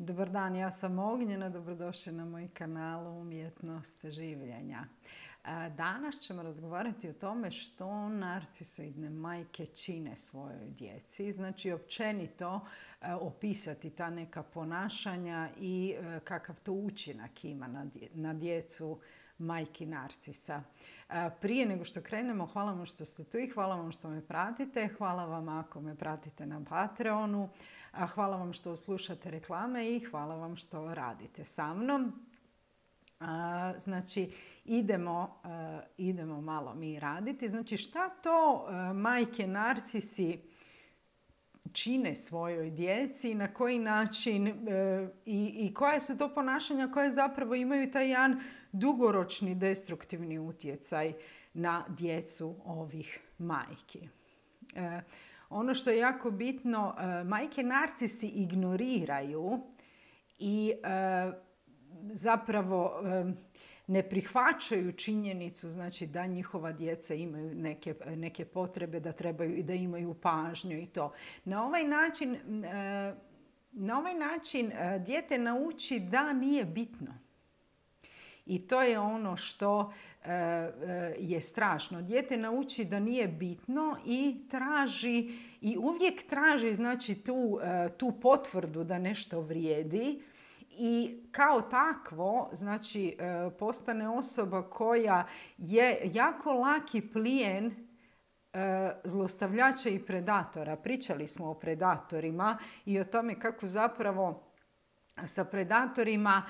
Dobar dan, ja sam Ognjena, dobrodošli na moj kanal Umjetnost življenja. Danas ćemo razgovarati o tome što narcisoidne majke čine svojoj djeci. Znači, općenito opisati ta neka ponašanja i kakav to učinak ima na djecu majki narcisa. Prije nego što krenemo, hvala vam što ste tu i hvala vam što me pratite. Hvala vam ako me pratite na Patreonu. Hvala vam što slušate reklame i hvala vam što radite sa mnom. Znači, idemo malo mi raditi. Znači, šta to majke narcisi čine svojoj djeci i na koji način i koja su to ponašanja koje zapravo imaju taj jedan dugoročni destruktivni utjecaj na djecu ovih majki. Ono što je jako bitno, majke narcisi ignoriraju i zapravo ne prihvaćaju činjenicu, znači da njihova djeca imaju neke potrebe, da trebaju i da imaju pažnju i to. Na ovaj način dijete nauči da nije bitno. I to je ono što je strašno. Dijete nauči da nije bitno i uvijek traži, znači, tu potvrdu da nešto vrijedi. I kao takvo, znači, postane osoba koja je jako laki plijen zlostavljača i predatora. Pričali smo o predatorima i o tome kako zapravo sa predatorima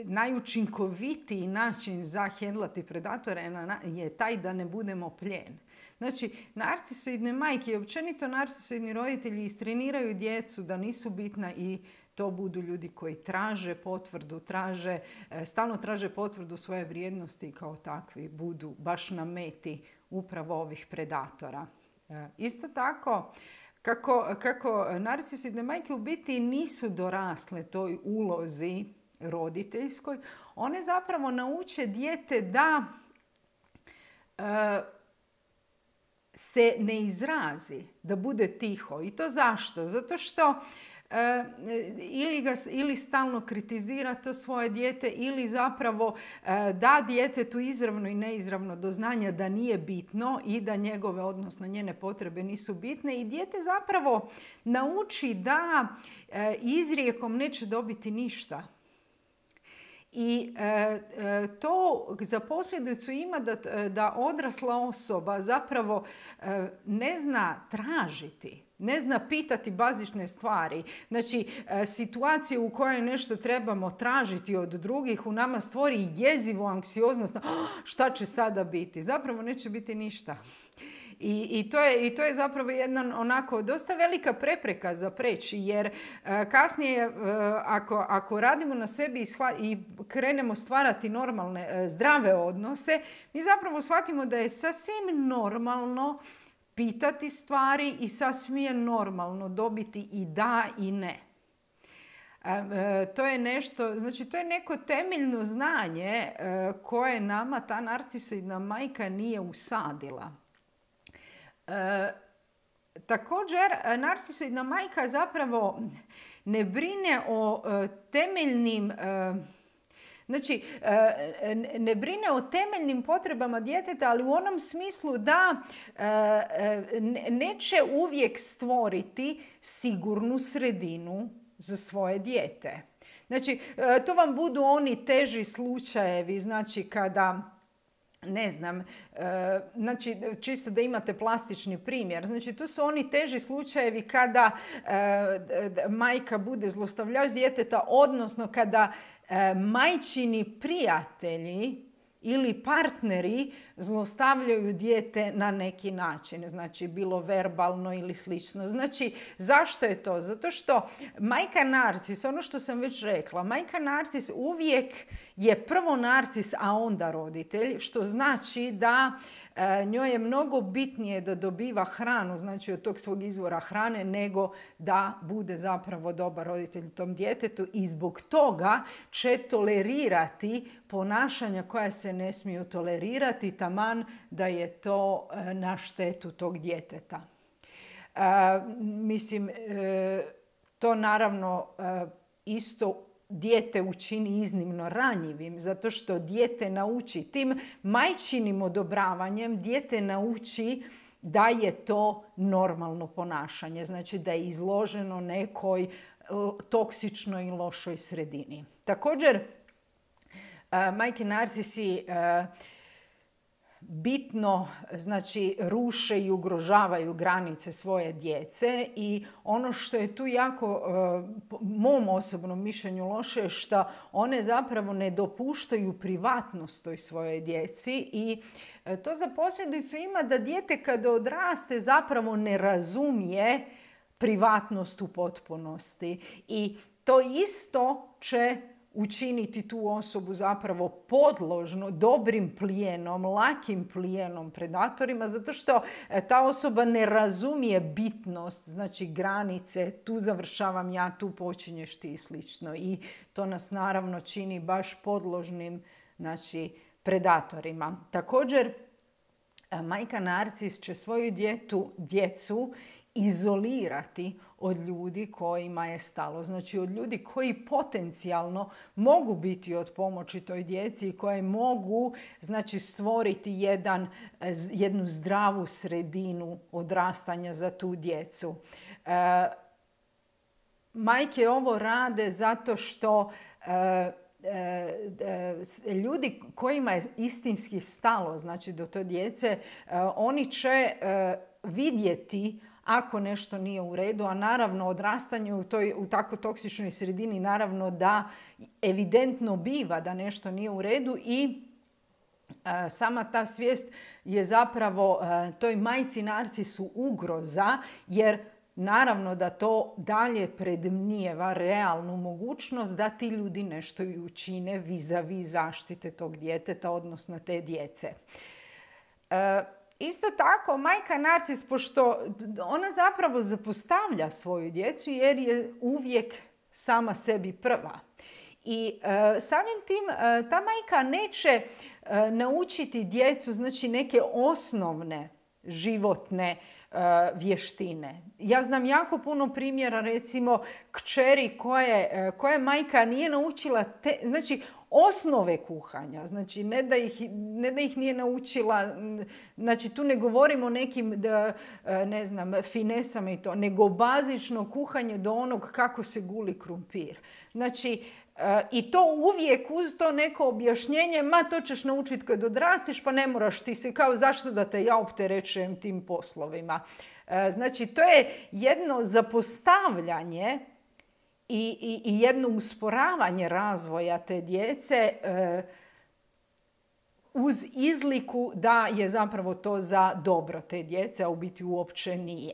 najučinkovitiji način za hendlati predatore je taj da ne budemo plijen. Znači, narcisoidne majke i općenito narcisoidni roditelji istreniraju djecu da nisu bitna i to budu ljudi koji traže potvrdu, stalno traže potvrdu svoje vrijednosti i kao takvi budu baš na meti upravo ovih predatora. Isto tako, kako narcisoidne majke u biti nisu dorasle toj ulozi roditeljskoj, one zapravo nauče dijete da se ne izrazi, da bude tiho. I to zašto? Zato što ili stalno kritizira to svoje dijete ili zapravo da djetetu izravno i neizravno do znanja da nije bitno i da njegove, odnosno njene potrebe nisu bitne i dijete zapravo nauči da izrijekom neće dobiti ništa. I to za posljedicu ima da odrasla osoba zapravo ne zna tražiti, ne zna pitati bazične stvari. Znači, situacije u kojoj nešto trebamo tražiti od drugih u nama stvori jezivu anksioznost. Šta će sada biti? Zapravo neće biti ništa. I to je zapravo jedna onako dosta velika prepreka za preći, jer kasnije ako radimo na sebi i krenemo stvarati normalne, zdrave odnose, mi zapravo shvatimo da je sasvim normalno pitati stvari i sasvim je normalno dobiti i da i ne. To je nešto, znači to je neko temeljno znanje koje nama ta narcisoidna majka nije usadila. Također, narcisoidna majka zapravo ne brine o temeljnim, znači ne brine o temeljnim potrebama djeteta, ali u onom smislu da neće uvijek stvoriti sigurnu sredinu za svoje dijete. Znači, to vam budu oni teži slučajevi, znači kada, ne znam, znači čisto da imate plastični primjer. Znači, to su oni teži slučajevi kada majka bude zlostavljač djeteta, odnosno kada majčini prijatelji ili partneri zlostavljaju dijete na neki način, znači bilo verbalno ili slično. Znači, zašto je to? Zato što majka narcis, ono što sam već rekla, majka narcis uvijek je prvo narcis, a onda roditelj, što znači da njoj je mnogo bitnije da dobiva hranu, znači od tog svog izvora hrane, nego da bude zapravo dobar roditelj tom djetetu i zbog toga će tolerirati ponašanja koja se ne smiju tolerirati, taman da je to na štetu tog djeteta. Mislim, to naravno isto dijete učini iznimno ranjivim, zato što dijete nauči tim majčinim odobravanjem, dijete nauči da je to normalno ponašanje, znači da je izloženo nekoj toksičnoj i lošoj sredini. Također, majke narcisi bitno, znači, ruše i ugrožavaju granice svoje djece i ono što je tu jako, po mom osobnom mišljenju, loše je što one zapravo ne dopuštaju privatnost toj svojoj djeci i to za posljedicu ima da dijete kada odraste zapravo ne razumije privatnost u potpunosti i to isto će učiniti tu osobu zapravo podložno dobrim plijenom, lakim plijenom predatorima, zato što ta osoba ne razumije bitnost, znači granice, tu završavam ja, tu počinješ ti i slično. I to nas naravno čini baš podložnim, znači, predatorima. Također, majka narcis će svoju djecu izolirati od ljudi kojima je stalo. Znači od ljudi koji potencijalno mogu biti od pomoći toj djeci i koje mogu, znači, stvoriti jednu zdravu sredinu odrastanja za tu djecu. Majke ovo rade zato što ljudi kojima je istinski stalo, znači, do te djece, oni će vidjeti ako nešto nije u redu, a naravno odrastanje u tako toksičnoj sredini naravno da evidentno biva da nešto nije u redu i sama ta svijest je zapravo toj majci narcisu ugroza, jer naravno da to dalje predmnijeva realnu mogućnost da ti ljudi nešto i učine vis-a-vis zaštite tog djeteta, odnosno te djece. Isto tako, majka narcis, pošto ona zapravo zapostavlja svoju djecu jer je uvijek sama sebi prva. I samim tim ta majka neće naučiti djecu, znači, neke osnovne životne vještine. Ja znam jako puno primjera, recimo, kćeri koje majka nije naučila, znači, osnove kuhanja. Znači, ne da ih nije naučila, znači tu ne govorimo o nekim, ne znam, finesama i to, nego bazično kuhanje do onog kako se guli krumpir. Znači, i to uvijek uz to neko objašnjenje, ma to ćeš naučiti kad odrastiš, pa ne moraš ti se, kao zašto da te ja opterećujem tim poslovima. Znači, to je jedno zapostavljanje i jedno usporavanje razvoja te djece uz izliku da je zapravo to za dobro te djece, a u biti uopće nije.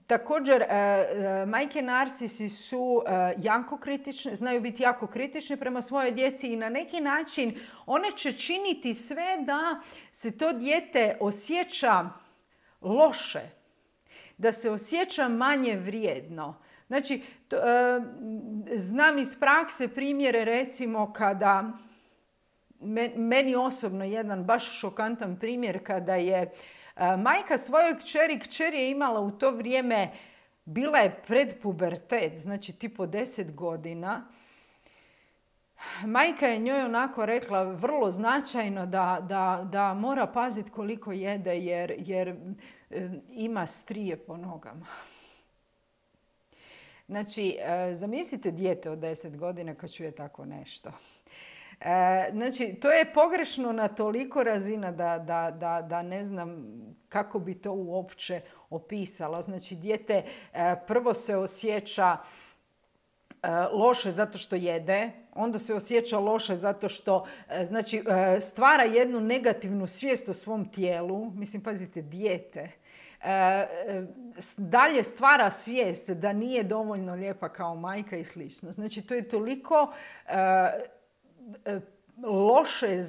Također, majke narcisi su jako kritične, znaju biti jako kritične prema svojoj djeci i na neki način one će činiti sve da se to dijete osjeća loše, da se osjeća manje vrijedno. Znači, znam iz prakse primjere, recimo, kada meni osobno jedan baš šokantan primjer kada je majka svojoj kćeri je imala u to vrijeme, bila je pred pubertet, znači tipo 10 godina. Majka je njoj onako rekla vrlo značajno da mora paziti koliko jede jer ima strije po nogama. Znači, zamislite dijete od 10 godina kad čuje tako nešto. Znači, to je pogrešno na toliko razina da ne znam kako bi to uopće opisala. Znači, dijete prvo se osjeća loše zato što jede, onda se osjeća loše zato što, znači, stvara jednu negativnu svijest o svom tijelu. Mislim, pazite, dijete. Dalje stvara svijest da nije dovoljno lijepa kao majka i slično. Znači, to je toliko loše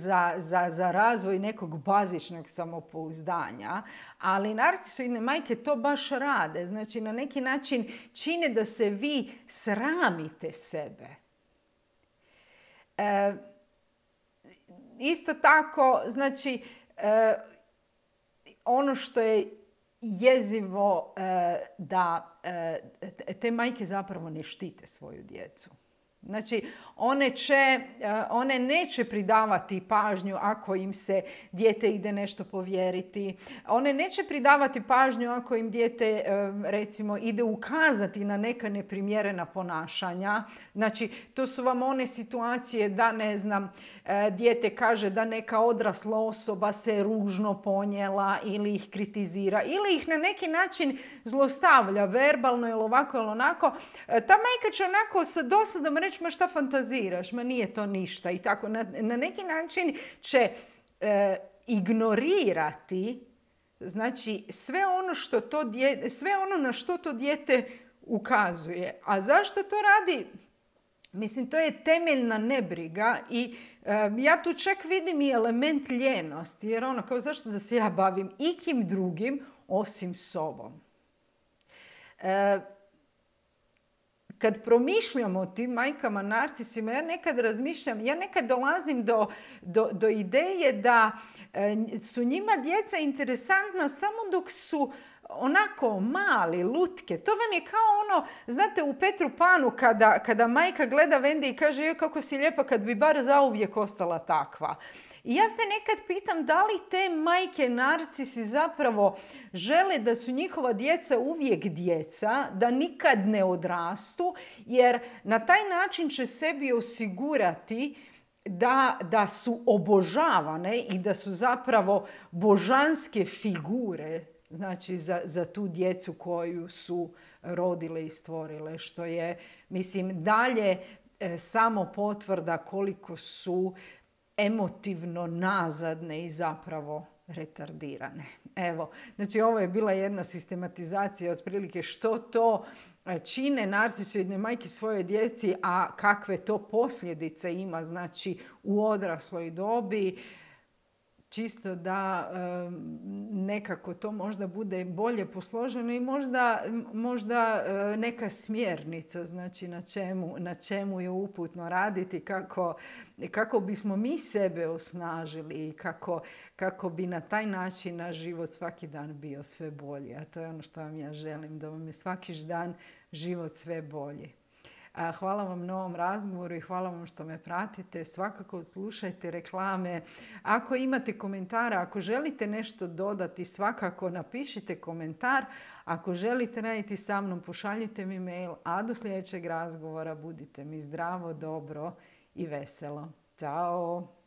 za razvoj nekog bazičnog samopouzdanja, ali narcisoidne majke to baš rade. Znači, na neki način čine da se vi sramite sebe. Isto tako, znači, ono što je jezivo da te majke zapravo ne štite svoju djecu. Znači, one neće pridavati pažnju ako im se dijete ide nešto povjeriti. One neće pridavati pažnju ako im dijete, recimo, ide ukazati na neka neprimjerena ponašanja. Znači, to su vam one situacije da, ne znam, dijete kaže da neka odrasla osoba se ružno ponijela ili ih kritizira ili ih na neki način zlostavlja verbalno ili ovako ili onako. Ta majka će onako sa dosadom reći, ma šta fantaziraš, ma nije to ništa i tako. Na neki način će ignorirati, znači, sve ono na što to dijete ukazuje. A zašto to radi? Mislim, to je temeljna nebriga i ja tu čak vidim i element ljenosti, jer ono, kao zašto da se ja bavim ikim drugim osim sobom. Kad promišljam o tim majkama narcisima, ja nekad dolazim do ideje da su njima djeca interesantna samo dok su onako mali, lutke. To vam je kao ono, znate, u Petru Panu kada majka gleda Wendy i kaže, joj kako si lijepa, kad bi bar zauvijek ostala takva. I ja se nekad pitam da li te majke narcisi zapravo žele da su njihova djeca uvijek djeca, da nikad ne odrastu, jer na taj način će sebi osigurati da su obožavane i da su zapravo božanske figure, znači za tu djecu koju su rodile i stvorile, što je, mislim, dalje samo potvrda koliko su emotivno nazadne i zapravo retardirane. Evo, znači ovo je bila jedna sistematizacija otprilike što to čine narcisoidne majke svoje djeci, a kakve to posljedice ima, znači, u odrasloj dobi. Čisto da nekako to možda bude bolje posloženo i možda neka smjernica, znači na čemu je uputno raditi, kako bismo mi sebe osnažili i kako bi na taj način naš život svaki dan bio sve bolji. A to je ono što vam ja želim, da vam je svaki dan život sve bolji. Hvala vam na ovom razgovoru i hvala vam što me pratite. Svakako slušajte reklame. Ako imate komentara, ako želite nešto dodati, svakako napišite komentar. Ako želite raditi sa mnom, pošaljite mi mail. A do sljedećeg razgovora budite mi zdravo, dobro i veselo. Ćao!